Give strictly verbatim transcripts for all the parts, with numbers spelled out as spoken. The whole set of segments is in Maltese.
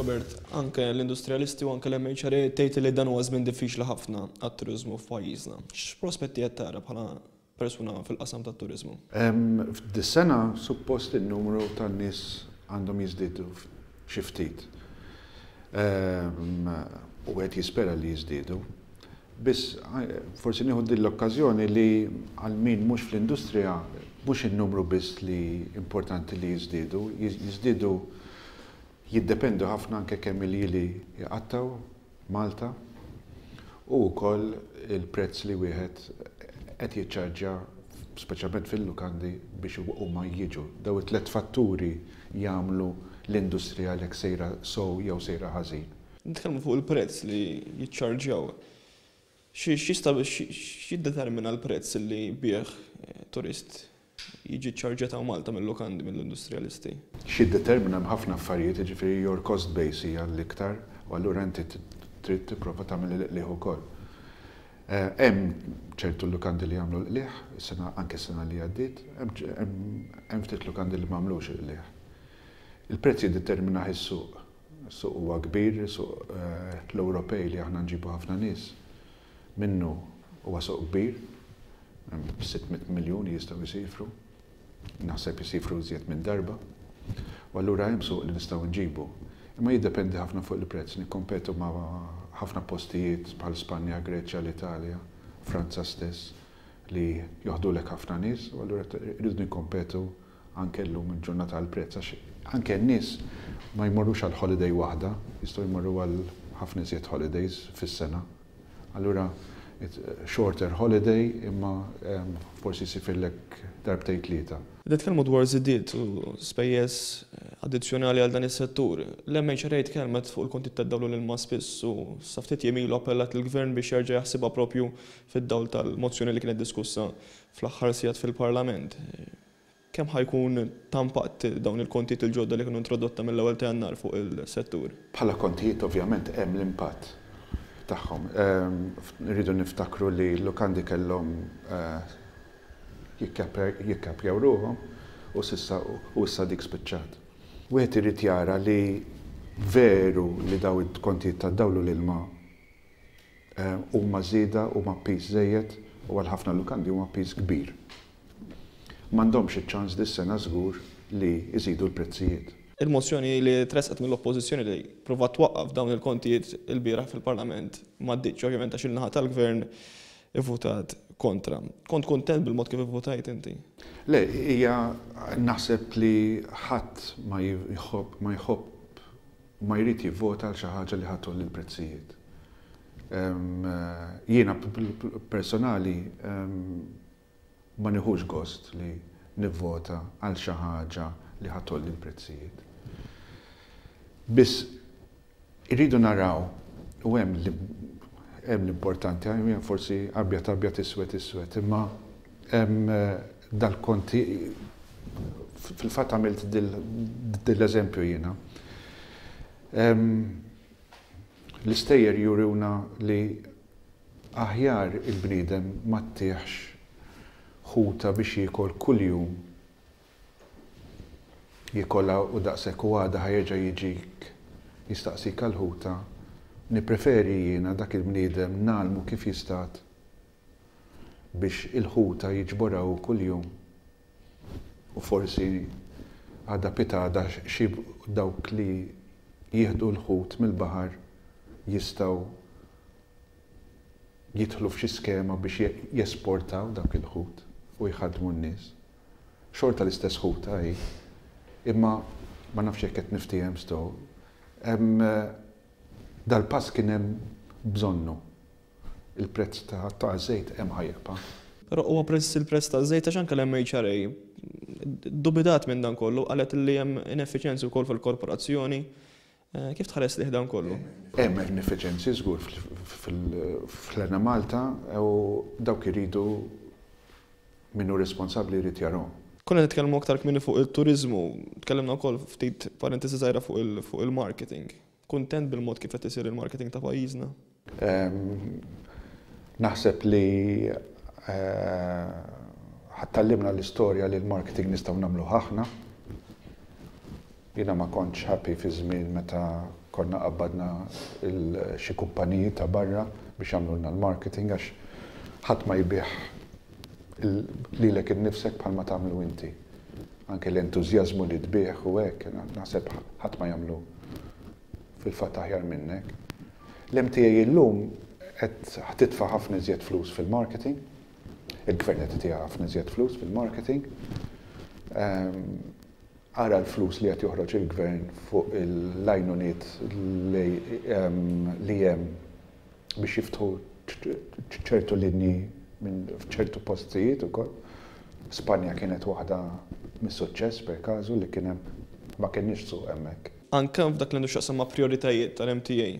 Robert, anke l-industrialisti u anke l-M H R A tgħid li dan huwa żmien diffiċli ħafna għat-turiżmu f'pajjiżna. X'prospetti qed tara bħala persuna fil-qasam tat-turiżmu? F'dis-sena suppost in-numru tan-nies għandhom jiżdiedu xi ftit. U qed jispera li jiżdiedu. Biss forsi nieħu din l-okkażjoni li għal min mhux fl-industrija, mhux in-numru biss li importanti li jiżdiedu, jiżdiedu jiddependu ħafna anke kemm iljieli jqattgħu Malta u wkoll il-prezz li wieħed qed jiċċarġja, speċjalment fil-lukandi, biex huma jiġu. Daw it-tlet fatturi jagħmlu l-industrija lek sejra sow jew sejra ħażin. Nitkellmu fuq il-prezz li jiċċarġjaw. X'jista' x'jiddetermina l-prezz li bih turist jiġi ċarġet Malta mill-lukandi, mill-industrialisti? X'jiddetermina ħafna affarijiet, jiġifieri your cost base hija l-iktar, u allura inti trid tipprova tagħmel il-qligħ ukoll. Eh, hemm ċertu lukandi li jagħmlu l-qligħ, sena anke sena li għaddiet, hemm ftit lukandi li m'għamlux il-qligħ. Il-prezz jiddetermina is-suq. Is-suq huwa kbir, suq eh, l-Ewropej li aħna nġibu ħafna nies minnu huwa suq kbir, sitt mitt miljun jistgħu jsifru, naħseb jisifru iżjed minn darba. U allura hemm suq li nistgħu nġibu. Imma jiddependi ħafna fuq il-prezz, nikkompetu ma' ħafna postijiet bħal Spanja, Greċja, l-Italja, Franza stess, li joħdulek ħafna nies, u allura rridu nikkompetu anke llum il-ġurnata għal prezz, għax anke n-nies ma jmorrux għal holiday waħda, jistgħu jmorru għal ħafna iżjed holidays fis-sena. Allura shorter holiday, imma forsi jsifirlek darbtejn, tlieta. Nitkellmu dwar żidiet u spejjeż addizzjonali għal dan is-settur. L-M H R A tkellmet fuq il-kontijiet tad-dawl u l-ilma spiss u sa ftit jiem ilu appellat il-gvern biex jerġa' jaħsibha propju fid-dawl tal-mozzjoni li kienet diskussa fl-aħħar sigħat fil-Parlament. Kemm ħa jkun ta' impatt dawn il-kontijiet il-ġodda li kienu introdotta mill-ewwel ta' Jannar fuq il-settur? Bħala kontijiet ovvjament hemm l-impatt tagħhom. Rridu niftakru li l-lukandi kellhom eh, jikkapjaw ruħhom u s'issa u issa dik spiċċat. Wieħed irid jara li veru li daw il-kontijiet tad-dawl u l-ilma eh, huma żieda, huma piż żejjed u għal ħafna lukandi huma piż kbir. M'għandhomx iċ-ċans dis-sena żgur li jżidu l-prezzijiet. Il-mozzjoni li tressqet mill-oppożizzjoni li provat twaqqaf dawn il-kontijiet il-bieraħ fil-Parlament m'għaddietx, ovvjament, għax il-naħa tal-gvern ivvutat kontra. Kont kontent bil-mod kif ivvutajt inti? Le, hija naħseb li ħadd ma jħobb ma jħobb ma jrid jivvota għal xi ħaġa li ħa tgħolli l-prezzijiet. Jiena personali ma nieħux gost li nivvota għal xi ħaġa li ħa tgħolli l-prezzijiet. Biss irridu naraw u hemm hemm l-importanti, hemm forsi abjad abjad, iswed iswed, imma hemm dal-konti, fil-fatt għamilt dil-eżempju jiena. L-istejjer juruna li aħjar il-bniedem ma ttihx ħuta biex jiekol kuljum, jikolha u daqshekk, u għada ħa jerġa' jiġik jistaqsik għal-ħuta. Nipreferi jiena dak il-bniedem ngħallmu kif jistad biex il-ħuta jiġborha kuljum u forsi għada pitgħada xi dawk li jieħdu l-ħut mill-baħar jistgħu jidħlu f'xi skema biex jesportaw dak il-ħut u jħadmu n-nies. Xorta l-istess ħuta hi, imma ma nafx jekk qed niftiehem sto. Dal-pass kien hemm bżonnu. Il-prezz ta' żejt hemm ħa jibqa'. Però huwa prezz il-prezz ta' żejt, għax anke l-M H R A dubitat minn dan kollu, qalet li hemm ineffiċjenzi wkoll fil-korporazzjoni. Eh, kif tħares lejh dan kollu? Hemm ineffiċjenzi żgur fl-Enemalta u dawk iridu, min hu responsabbli jrid jarahom. Konna nitkellmu aktar kmieni fuq il-turizmu, tkellimna wkoll ftit parentesi żgħira fuq il-marketing. Kuntent bil-mod kif qed isir il-marketing ta' pajjiżna? Naħseb li eh, tgħallimna l-istorja li l-marketing nistgħu nagħmlu aħna. Jiena ma kontx happy fi żmien meta Konna qabbadna xi kumpaniji ta' barra biex jagħmlulna l-marketing, għax ħadd ma jbigħ lilek innifsek bħalma tagħmlu inti. Anke l-entużjażmu li tbigħ u hekk, naħseb ħadd ma jagħmlu fil-fatt aħjar minnek. L-M T A illum qed titfa' ħafna iżjed flus fil-marketing, il-gvern qed itiha ħafna iżjed flus fil-marketing. Ara l-flus li qed joħroġ il-gvern fuq l-għajnuniet li hemm biex jiftħu ċertu linji minn ċertu postijiet ukoll. Spanja kienet waħda mis-suċċess, per każu, li kien hemm, ma kienx suq hemmhekk. Anke f'dak li għandu x'jaqsam ma' prioritajiet tal-M T A,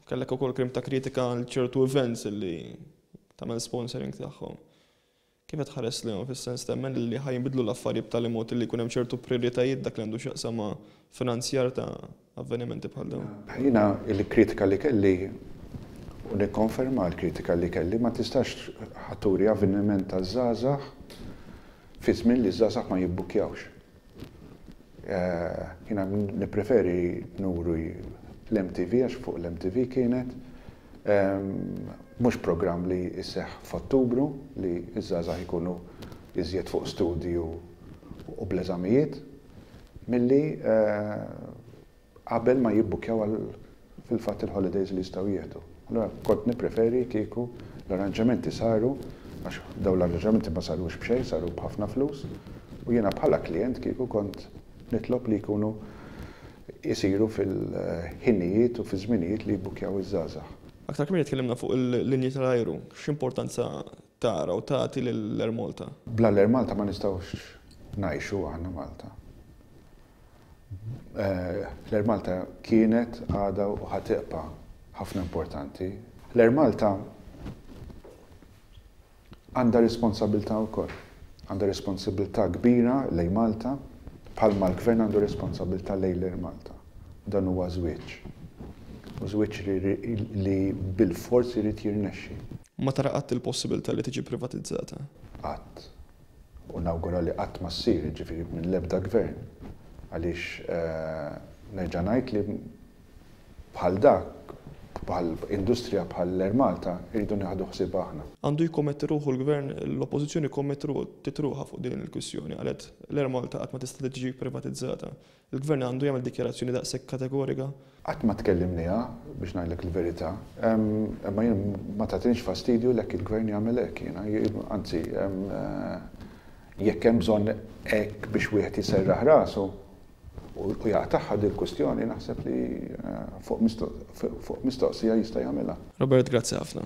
kellek ukoll kliem ta' kritika għal ċertu events li tagħmel sponsoring tagħhom. Kif qed tħares lejhom, fis-sens temmen li ħa jinbidlu l-affarijiet b'tali mod li jkun hemm ċertu prioritajiet dak li għandu x'jaqsam ma' finanzjar ta' avvenimenti bħal dawn? Jiena il-kritika li kelli, u nikkonferma l-kritika li kelli, ma tistax ħa turi avveniment ta' żgħażagħ fi żmien li żgħażagħ ma jibbukjawx. Jiena nippreferi nuru l-M T V, għax fuq l-M T V kienet, mhux programm li jseħħ f'Ottubru li iż-żgħażagħ ikunu iżjed fuq studju u bl-eżamijiet, milli qabel ma jibbukjaw għal fil-fatt il-holidays li jistgħu jieħdu. Allora kont nippreferi kieku l-arranġamenti saru, għax daw l-arranġamenti ma sarux b'xejn, saru b'ħafna flus, u jiena bħala klient kieku kont nitlob li jkunu jisiru fil-ħinijiet u fil-żminijiet li jibbukjaw iż-żgħażagħ. Aktar kmieni tkellimna fuq il-linji tal-ajru. X'importanza tara u tagħti lill-Air Malta? Bla l-Air Malta ma nistgħux ngħixu aħna Malta. L-Air Malta kienet, għada u ħa tibqa' ħafna importanti. L-Air Malta għandha responsabilità wkoll. Għandha responsabilità kbira lejn Malta, bħalma l-gvern għandu responsabilità lejn l-Air Malta. Dan huwa żwieġ. U żwieġ li bil-forsi jrid jirnexxi. Ma tara qatt il-possibilità li tiġi privatizzata? Qatt. U nawgura li qatt ma ssir, ġifieri minn l-ebda gvern. Għaliex nerġa' ngħid li bħal dak, bħal industrija bħal l-Air Malta, irridu nieħdu ħsieb aħna. Għandu jikkommetti ruħu l-gvern, l-oppożizzjoni kkommettiet ruħha fuq din il-kwistjoni, qalet l-Air Malta qatt ma tista' tiġi privatizzata. Il-gvern għandu jagħmel dikjarazzjoni daqshekk kategorika? Qatt ma tkellimniha, biex ngħidlek il-verità, imma jien ma tagħtinix fastidju lek il-gvern jagħmel hekk jiena, anzi, jekk hemm bżonn hekk biex wieħed jiserraħ rasu u jaqtagħha dil kwistjoni, naħseb li fuq mistoqsija jista' jagħmilha. Robert, grazzi ħafna.